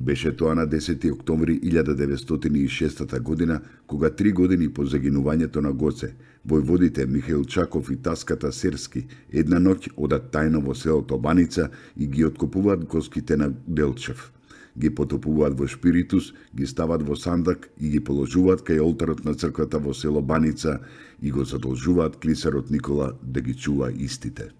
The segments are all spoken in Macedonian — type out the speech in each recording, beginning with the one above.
Беше тоа на 10. октомври 1906 година, кога 3 години по загинувањето на Гоце, војводите Михаил Чаков и Таската Серски една ноќ одат тајно во селото Баница и ги откопуваат коските на Делчев. Ги потопуваат во шпиритус, ги стават во сандак и ги положуваат кај олтарот на црквата во село Баница и го задолжуваат клисарот Никола да ги чува истите.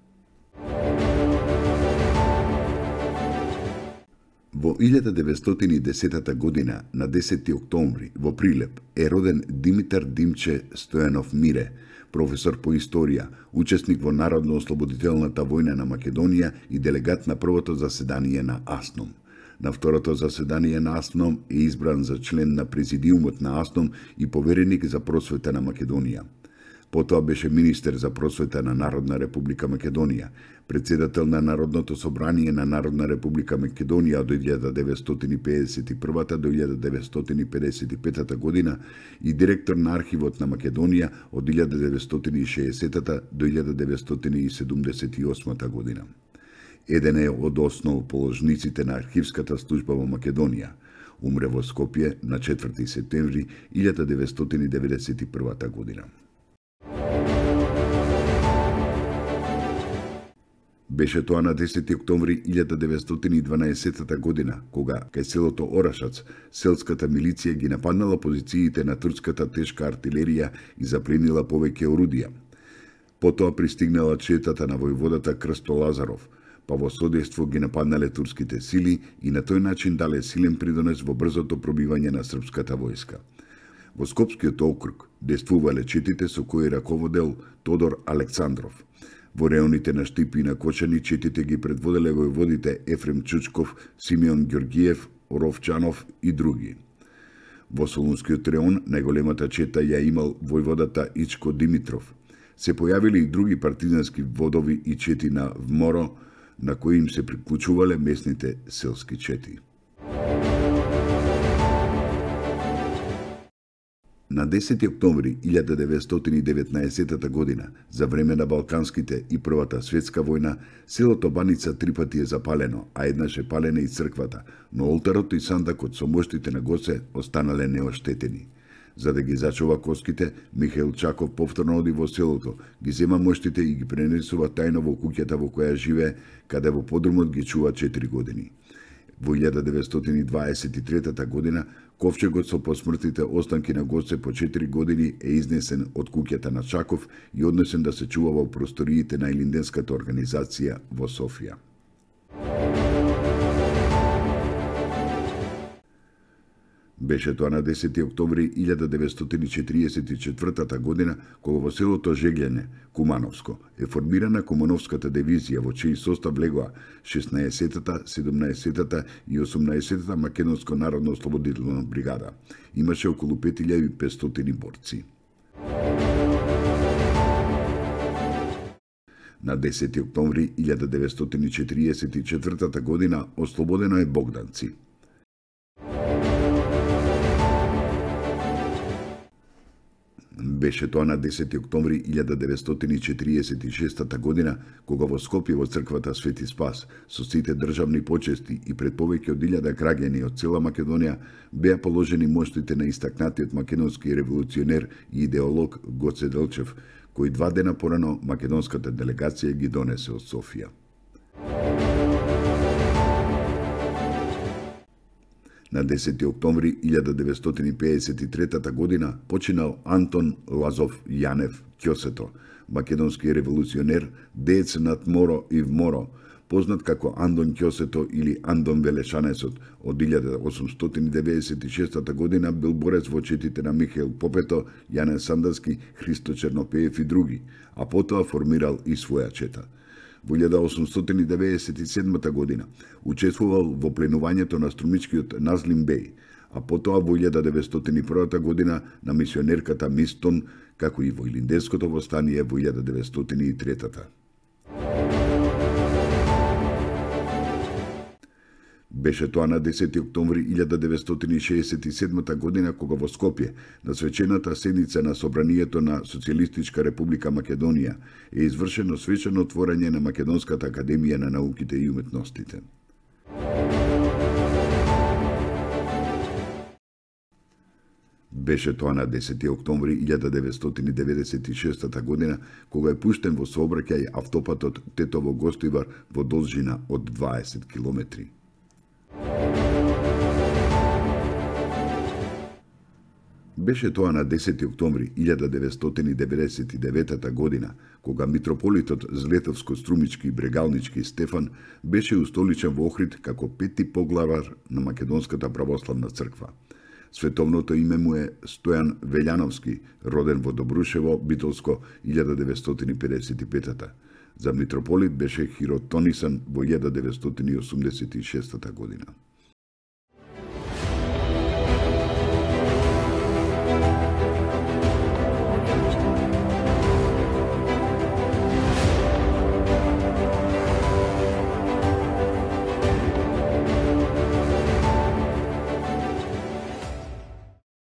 Во 1910 година, на 10. октомври, во Прилеп, е роден Димитар Димче Стојанов Мире, професор по историја, учесник во Народно-ослободителната војна на Македонија и делегат на првото заседание на АСНОМ. На второто заседание на АСНОМ е избран за член на президиумот на АСНОМ и повереник за просвета на Македонија. Потоа беше министер за просвета на Народна република Македонија, председател на Народното собрание на Народна република Македонија од 1951 до 1955 година и директор на архивот на Македонија од 1960 до 1978 година. Еден е од основоположниците на архивската служба во Македонија. Умре во Скопје на 4. септември 1991 година. Беше тоа на 10. октомври 1912 година, кога кај селото Орашац, селската милиција ги нападнала позициите на турската тешка артилерија и запленила повеќе орудија. Потоа пристигнала четата на војводата Крсто Лазаров, па во содейство ги нападнале турските сили и на тој начин дале силен придонес во брзото пробивање на српската војска. Во Скопскиот округ действувале четите со кои раководел Тодор Александров. Во реоните на Штипи и на Кочани четите ги предводеле војводите Ефрем Чучков, Симеон Ѓорѓиев, Оровчанов и други. Во Солунскиот реон најголемата чета ја имал војводата Ичко Димитров. Се појавиле и други партизански водови и чети на Вморо, на кои им се приклучувале местните селски чети. На 10. октомври 1919 година, за време на Балканските и Првата светска војна, селото Баница 3 пати е запалено, а еднаш е палена и црквата, но олтарот и сандакот со моштите на Гоце останале неоштетени. За да ги зачува коските, Михаил Чаков повторно оди во селото, ги зема моштите и ги пренесува тајно во куќата во која живее, каде во подрумот ги чува 4 години. Во 1923 година, ковчегот со посмртните останки на Гоце по 4 години е изнесен од куќата на Чаков и однесен да се чува во просториите на Илинденската организација во Софија. Беше тоа на 10. октомври 1944 година, кога во селото Жеглјане, Кумановско, е формирана Кумановската дивизија, во чиј состав легоа 16-та, 17-та и 18-та Македонско народно ослободителна бригада. Имаше околу 5500 борци. На 10. октомври 1944 година ослободено е Богданци. Беше тоа на 10. октомври 1946 година, кога во Скопје во црквата Свети Спас, со сите државни почести и пред повеќе од 1000 граѓани од цела Македонија, беа положени моштите на истакнатиот македонски револуционер и идеолог Гоце Делчев, кој 2 дена порано македонската делегација ги донесе од Софија. На 10. октомври 1953 година починал Антон Лазов Јанев Ќосето, македонски револуционер, деец над Моро и Вморо, познат како Андон Ќосето или Андон Велешанесот. Од 1896 година бил борец во четите на Михаил Попето, Јанен Сандански, Христо Чернопеев и други, а потоа формирал и своја чета. Во 1897 година учествувал во пленувањето на струмичкиот Назлим Беј, а потоа во 1901 година на мисионерката Мистон, како и во Илинденското востание во 1903. Беше тоа на 10. октомври 1967 година, кога во Скопје, на свечената седница на Собранието на Социјалистичка република Македонија, е извршено свечено отворање на Македонската академија на науките и уметностите. Беше тоа на 10 октомври 1996 година, кога е пуштен во сообраќај автопатот Тетово-Гостивар во должина од 20 километри. Беше тоа на 10 октомври 1999 година, кога митрополитот Злетовско-Струмички и Брегалнички Стефан беше устоличен во Охрид како пети поглавар на Македонската православна црква. Световното име му е Стојан Велјановски, роден во Добрушево, Битолско, 1955. За митрополит беше хиротонисан во 1986 година.